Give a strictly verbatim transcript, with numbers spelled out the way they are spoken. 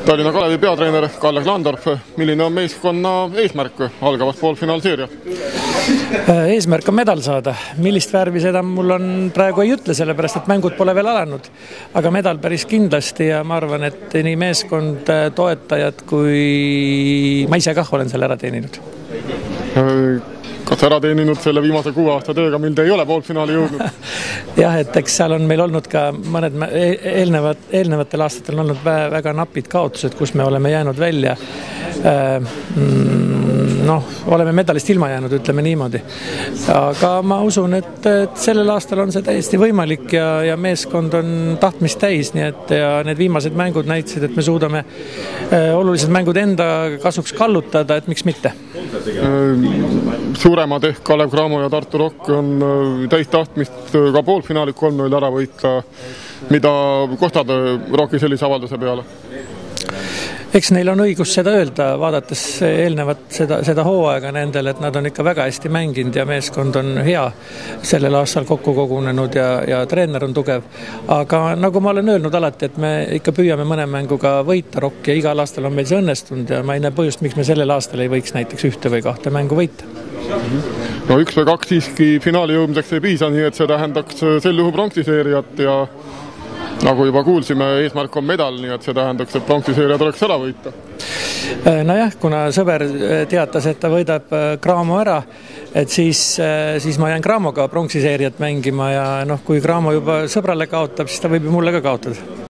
Tallinna Kalevi peatreener Kalle Klandorf, milline on meeskonna eesmärk algavas poolfinaalseeriat? Eesmärk on medal saada. Millist värvi seda mul on praegu ei ütle, sellepärast et mängud pole veel alanud. Aga medal päris kindlasti ja ma arvan, et nii meeskond, toetajad kui ma ise kah olen selle ära teeninud. Kas ära teeninud selle viimase kuue aasta tööga, mil te ei ole poolfinaali jõudnud? Jah, et eks seal on meil olnud ka mõned eelnevad, eelnevatel aastatel on olnud väga napid kaotused, kus me oleme jäänud välja. Noh, oleme medalist ilma jäänud, ütleme niimoodi. Aga ma usun, et, et sellel aastal on see täiesti võimalik ja, ja meeskond on tahtmist täis, nii et ja need viimased mängud näitasid, et me suudame olulised mängud enda kasuks kallutada, et miks mitte. Suuremad ehk Kalev Cramo ja Tartu Rock on täis tahtmist ka poolfinaali kolm null ära võita. Mida kostad Rocki sellise avalduse peale? Eks neil on õigus seda öelda, vaadates eelnevat seda, seda hooaega nendel, et nad on ikka väga hästi mänginud ja meeskond on hea sellel aastal kokku kogunenud ja, ja treener on tugev. Aga nagu ma olen öelnud alati, et me ikka püüame mõne mänguga võita Rocki ja igal aastal on meil see õnnestunud ja ma ei näe põhjust, miks me sellel aastal ei võiks näiteks ühte või kahte mängu võita. No üks või kaks siiski finaali jõudmiseks ei piisa, nii et see tähendaks sel juhu pronksiseeriat ja nagu juba kuulsime, eesmärk on medal, nii et see tähendaks, et pronksiseeria tuleks ära võita. Nojah, kuna sõber teatas, et ta võidab Cramo ära, et siis, siis ma jään Cramoga pronksiseeriat mängima ja noh, kui Cramo juba sõbrale kaotab, siis ta võib ju mulle ka kaotada.